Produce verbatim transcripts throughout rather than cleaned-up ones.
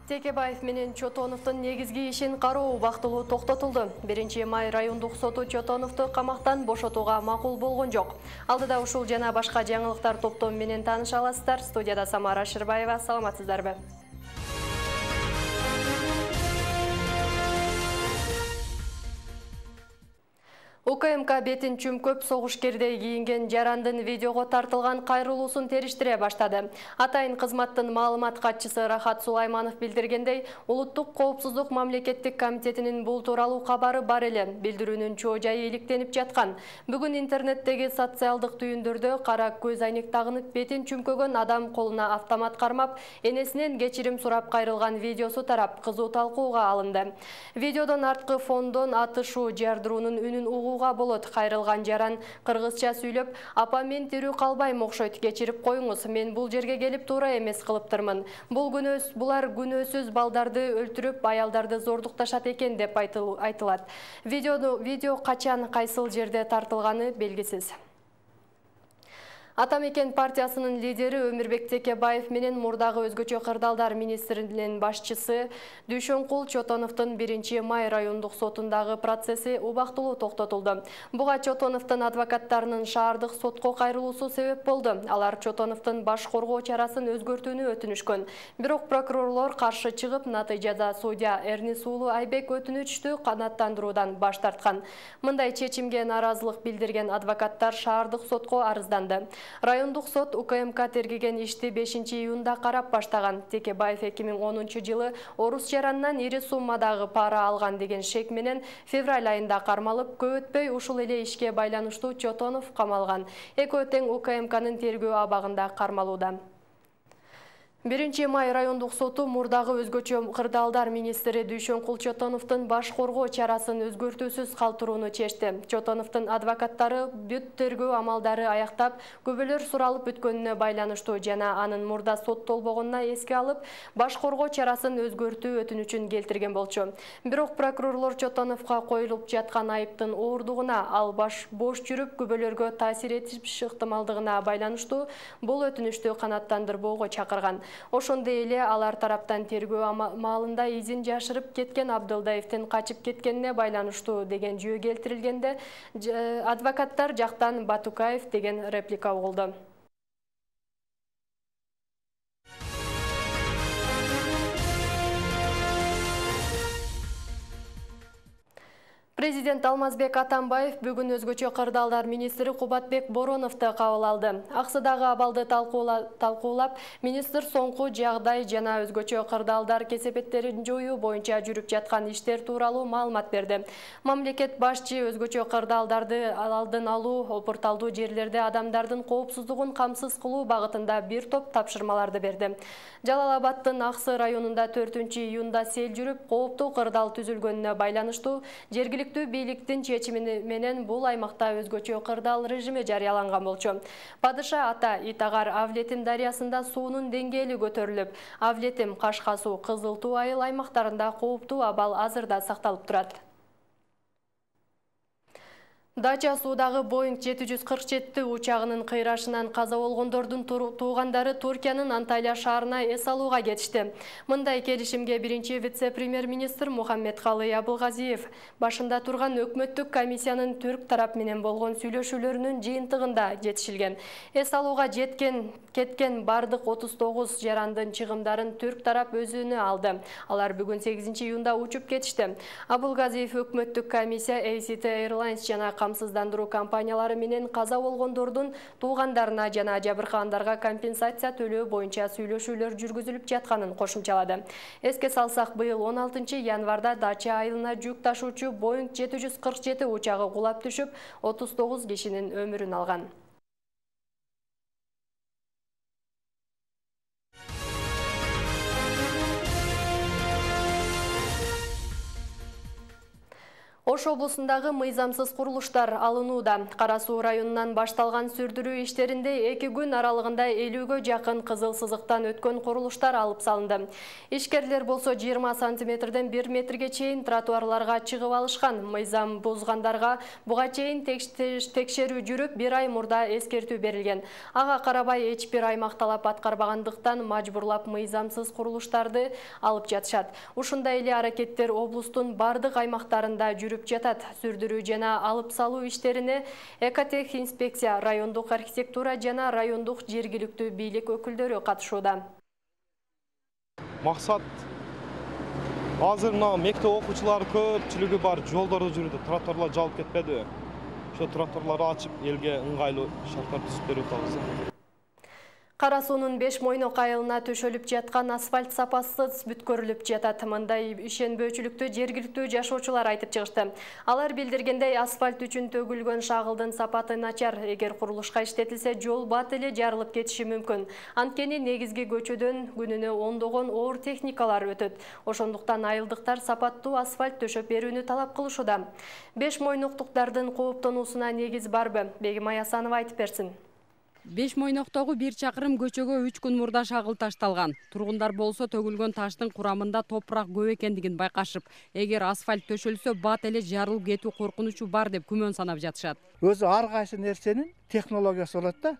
Текебаев менен Чотоновдун негизги ишин кароо убактылуу токтотулду. биринчи май райондук соту Чотоновду камактан бошотууга макул болгон жок. Алдыда ушул жана башка жаңылыктар топтом менен тааныша аласыздар. Студияда Самара Шырбаева. Саламатсыздарбы? УКМК бетин чүмкөп согушкердей кийинген жарандын видеого тартылган кайрылуусун териштире баштады. Атайын кызматтын маалымат катчысы Рахат Сулайманов билдиргендей, Улуттук коопсуздук мамлекеттик комитетинин бул тууралуу кабары бар эле. Билдирүүнүн чоо жайы иликтенип жаткан. Бүгүн интернеттеги социалдык түйүндөрдө кара көз айнек тагынып бетин чүмкөгөн адам колуна автомат кармап, энесинен кечирим сурап кайрылган видеосу тарап кызуу талкууга алынды. Видеодон арткы фондон атышуу, жардыруунун үнүн угуу болот. Кайрылган жаран кыргызча сүйлөп, апа мен тирүү калбайм окшойт, кечирип коюңуз, мен бул жерге келип туура эмес кылыптырмын. Бул күнөөс, булар күнөөсүз балдарды өлтүрүп, аялдарды зордукташат экен деп айтылат. Видеону видео качан, кайсыл жерде тартылганы белгисиз. Атамекен партиясынын лидери Өмүрбек Текебаев менен мурдагы өзгөчө кырдаалдар министринин башчысы Дүйшөнкул Чотоновдун биринчи май райондук сотундагы процесси убактылуу токтотулду. Буга Чотоновдун адвокаттарынын шаардык сотко кайрылуусу себеп болду. Алар Чотоновдун баш коргоо чарасын өзгөртүүнү өтүнүшкөн. Бирок прокурорлор каршы чыгып, натыйжада судья Эрнис уулу Айбек өтүнүчтү канааттандыруудан баш тарткан. Мындай чечимге нааразылык билдирген адвокаттар шаардык сотко арызданды. Райондук сот УКМК тергеген ишти бешинчи июнда карап баштаган. Текебаев эки миң онунчу жылы орус жаранынан ири суммадагы пара алган деген шек менен февраль айында кармалып, көп өтпөй ушул эле ишке байланыштуу Чотонов камалган. Экөө тең УКМКнын тергөө абагында кармалууда. биринчи май райондук соту мурдагы өзгөчө кырдаалдар министри Дүйшөнкул Чотоновдун баш коргоо чарасын өзгөртүүсүз калтырууну чечти. Чотоновдун адвокаттары бүт тергөө амалдары аяктап, күбөлөр суралып бүткөнүнө байланыштуу жана анын мурда соттолбогонуна эске алып, баш коргоо чарасын өзгөртүү өтүнүчүн келтирген болчу. Бирок прокурорлор Чотоновго коюлуп жаткан айыптын оордугуна, ал баш бош жүрүп күбөлөргө таасир этиш ыктымалдыгына байланыштуу бул өтүнүштү канааттандырбоого чакырган. Ошондой эле алар тараптан тергөө маалында изин жашырып кеткен Абдылдаевдин качып кеткенине байланыштуу деген жүйө келтирилгенде, адвокаттар жактан Батукаев деген реплика угулду. Президент Алмазбек Атамбаев бүгүн өзгөчө кырдаалдар министри Кубатбек Бороновду кабыл алды. Аксыдагы абалды талкуулап, министр соңку жагдай жана өзгөчө кырдаалдар кесепеттерин жоюу боюнча жүрүп жаткан иштер тууралуу маалымат берди. Мамлекет башчы өзгөчө кырдаалдарды алдын алуу, опурталдуу жерлерде адамдардын коопсуздугун камсыз кылуу багытында бир топ тапшырмаларды берди. Жалал Абадтын Аксы районунда төртүнчү июнда сел жүрүп, кооптуу кырдаал түзүлгөнүнө байланыштуу жергиликтүү бийликтин чечими менен бул аймакта өзгөчө кырдаал режими жарыяланган болчу. Падыша ата Итагар Авлетим дарыясында суунун деңгээли көтөрүлүп, Авлетим, Кашка суу, Кызыл Туу айыл аймактарында кооптуу абал азырда сакталып турат. Дача суудагы Боинг жети жүз кырк жети учагынын кыйрашынан каза болгондордун туугандары Туркиянын Анталия шаарына эс алууга кетишти. Мындай келишимге биринчи вице-премьер-министр Мухаммедкалый Абылгазиев башында турган өкмөттүк комиссиянын түрк тарап менен болгон сүйлөшүүлөрүнүн жыйынтыгында жетишилген. Эс алууга жеткен кеткен бардык отуз тогуз жарандын чыгымдарын түрк тарап өзүнө алды. Алар бүгүн сегизинчи июнда учуп кетишти. Абылгазиев өкмөттүк комиссия A C T Airlines жана камсыздандыруу компаниялары менен каза болгондордун туугандарына жана жабыркагандарга компенсация төлөө боюнча сүйлөшүүлөр жүргүзүлүп жатканын кошумчалады. Эске салсак, быйыл он алтынчы январда Дача айылына жүк ташуучу Боинг жети жүз кырк жети учагы кулап түшүп, отуз тогуз кишинин өмүрүн алган. Ош облусундагы мыйзамсыз курулуштар алынууда. Кара Суу районунан башталган сүрдүрүү иштеринде эки күн аралыгында элүүгө жакын кызыл сызыктан өткөн курулуштар алып салынды. Ишкерлер болсо жыйырма сантиметрден бир метрге чейин тротуарларга чыгып алышкан. Мыйзам бузгандарга буга чейин текшерүү жүрүп, бир ай мурда эскертүү берилген. Ага карабай эч бир аймак талап аткарбагандыктан мажбурлап мыйзамсыз курулуштарды алып жатышат. Ушундай эле аракеттер облустун бардык аймактарында жүрүп жатат. Сүрдүрүү жана алып салуу иштерине Экотех инспекция, райондук архитектура жана райондук жергиликтүү бийлик өкүлдөрү катышууда. Максат азыр мына мектеп окуучулары көпчүлүгү бар жолдордо жүрүүдө, тротуарлар жабылып кетпеди. Ошо тротуарларды ачып, элге ыңгайлуу шарттар түзүп берип атабыз. Кара Суунун беш мойнок айылына төшөлүп жаткан асфальт сапасыз бүткөрүлүп жатат. Мындай ишенбөөчүлүктү жергиликтүү жашоочулар айтып чыгышты. Алар билдиргендей, асфальт үчүн төгүлгөн шагылдын сапаты начар. Эгер курулушка иштетилсе, жол бат эле жарылып кетиши мүмкүн. Анткени негизги көчөдөн күнүнө ондогон оор техникалар өтөт. Ошондуктан айылдыктар сапаттуу асфальт төшөп берүүнү талап кылышууда. Беш мойноктуктардын кооптонуусуна негиз барбы? Бегимай Асанова айтып берсин. Беш мойноктогу бир чакырым көчөгө үч күн мурда шагыл ташталган. Тургундар болсо төгүлгөн таштын курамында топурак көп экендигин байкашып, эгер асфальт төшөлсө бат эле жарылып кетүү коркунучу бар деп күмөн санап жатышат. Өзү ар кайсы нерсенин технологиясы болот да.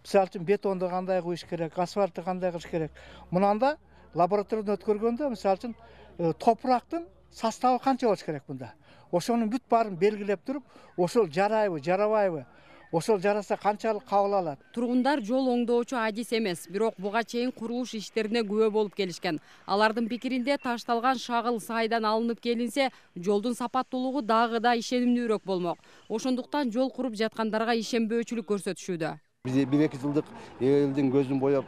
Мисалы үчүн бетонду кандай куюш керек, асфальтты кандай кылыш керек. Мынанда лабораториядан өткөргөндө мисалы үчүн топурактын составы канча болуш керек мында. Ошонун бүт баарын белгилеп туруп, ошол жарайбы, жарабайбы, ошол жараса канчалык кабыл алат. Тургундар жол оңдоочу адис эмес, бирок буга чейин курулуш иштерине күбө болуп келишкен. Алардын пикиринде ташталган шагыл сайдан алынып келинсе, жолдун сапаттуулугу дагы да ишенимдүүрөөк болмок. Ошондуктан жол куруп жаткандарга ишенбөөчүлүк көрсөтүшүүдө. Биз бир эки жылдык элдин көзүн боеп,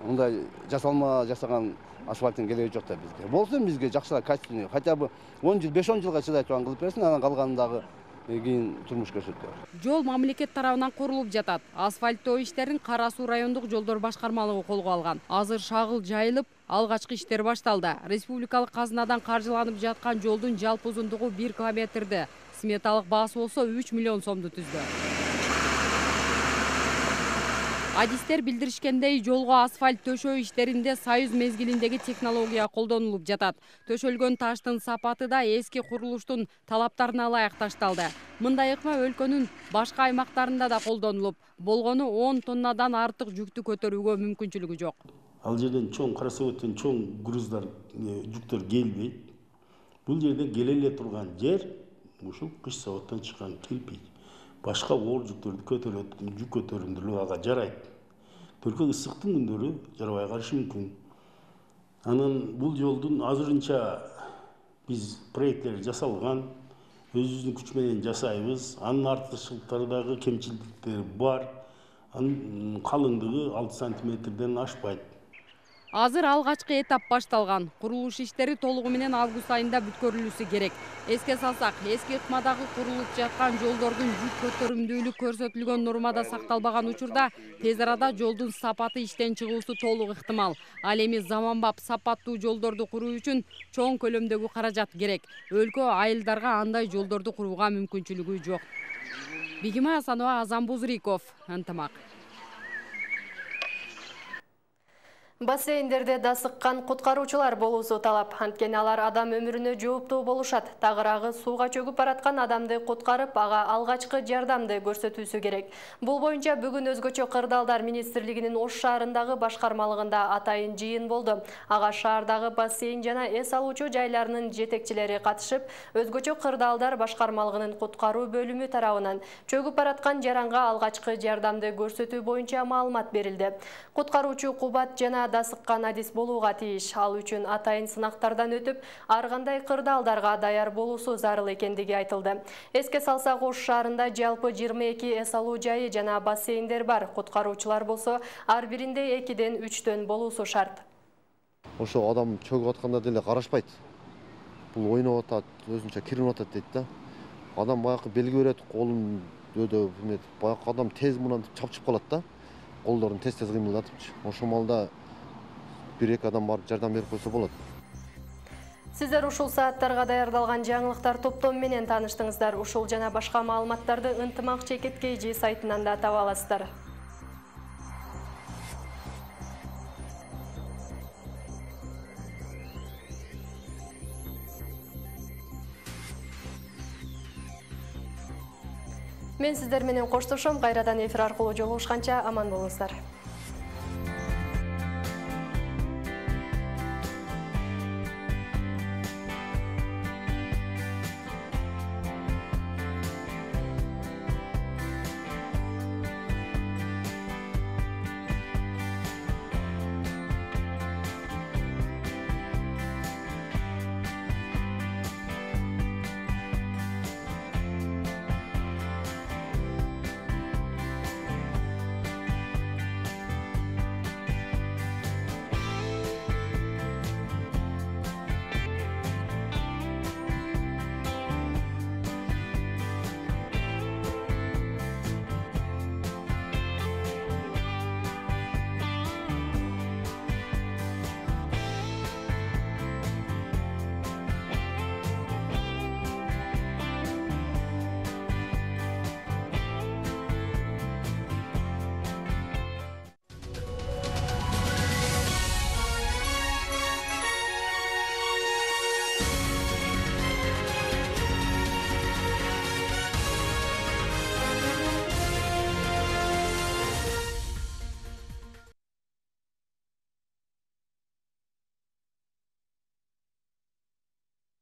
мындай жасалма жасаган асфальттын кереги жок да бизге. Болсо бизге жакшыраак качественный, хотя бы он жыл, беш он жылга чыдай турган кылып берсин, анан калганындагы кийин турмуш көрсөтөт. Жол мамлекет тарабынан курулуп жатат. Асфальттоо иштерин Кара Суу райондук жолдор башкармалыгы колго алган. Азыр шагыл жайылып, алгачкы иштер башталды. Республикалык казынадан каржыланып жаткан жолдун жалпы узундугу бир километрди. Сметалык баасы болсо үч миллион сомду түздү. Адистер билдиришкендей, жолго асфальт төшөө иштеринде союз мезгилиндеги технология колдонулуп жатат. Төшөлгөн таштын сапаты да эски курулуштун талаптарына ылайык ташталды. Мындай ыкма өлкөнүн башка аймактарында да колдонулуп, болгону он тоннадан артык жүктү көтөрүүгө мүмкүнчүлүгү жок. Ал жерден чоң Кара Суудан чоң груздар, жүктөр келбейт. Бул жерде келе эле турган жер ушул кыш заводдон чыккан кирпич. Башка оор жүктөрдү көтөрөт, жүк көтөрүмдүлүгү ага жарайт. Только ысыктын күндөрү жарабай калышы мүмкүн. Анан бул жолдун азырынча биз проекттер жасалган, өзүбүздүн күч менен жасайбыз. Анын артыкчылыктары дагы кемчиликтери бар. Анын калыңдыгы алты сантиметрден ашпайт. Азыр алгачкы этап башталган. Курулуш иштери толугу менен август айында бүткөрүлүшү керек. Эске салсак, эски ыкмадагы курулуп жаткан жолдордун жүк көтөрүмдүүлүк көрсөтүлгөн нормада сакталбаган учурда тез арада жолдун сапаты иштен чыгуусу толук ыктымал. Ал эми заманбап сапаттуу жолдорду куруу үчүн чоң көлөмдөгү каражат керек. Өлкө айылдарга андай жолдорду курууга мүмкүнчүлүгү жок. Бегимай Асанова, Азан Бузриков, Ынтымак. Бассейндерде дасыккан куткаруучулар болуусу талап. Анткени алар адам өмүрүнө жооптуу болушат. Тагыраагы сууга чөгүп бараткан адамды куткарып, ага алгачкы жардамды көрсөтүүсү керек. Бул боюнча бүгүн Өзгөчө кырдаалдар министрлигинин Ош шаарындагы башкармалыгында атайын жыйын болду. Ага шаардагы бассейн жана эс алуучу жайларынын жетекчилери катышып, Өзгөчө кырдаалдар башкармалыгынын куткаруу бөлүмү тарабынан чөгүп бараткан жаранга алгачкы жардамды көрсөтүү боюнча маалымат берилди. Куткаруучу кубат жана дасыккан адис болууга тийиш. Ал үчүн атайын сынактардан өтүп, ар кандай кырдаалдарга даяр болуусу зарыл экендиги айтылды. Эске салсак, Ош шаарында жалпы жыйырма эки эс алуу жайы жана бассейндер бар. Куткаруучулар болсо ар биринде экиден үчтөн болуусу шарт. Ошо адам чөгүп атканда деле карашпайт. Бул ойноп атат, өзүнчө киринип атат дейт да. Адам баягы белги берет, колун өдө эметип, баягы адам тез мындан чапчып калат да. Колдорун тез-тез кыймылдатып. Ошол маалда бир эки адам барып жардам берип койсо болот. Сиздер ушул сааттарга даярдалган жаңылыктар топтому менен тааныштыңыздар. Ушул жана башка маалыматтарды ынтымак чекит кей жи сайтынан да таба аласыздар. Мен сиздер менен коштошом. Кайрадан эфир аркылуу жолугушканча аман болуңуздар.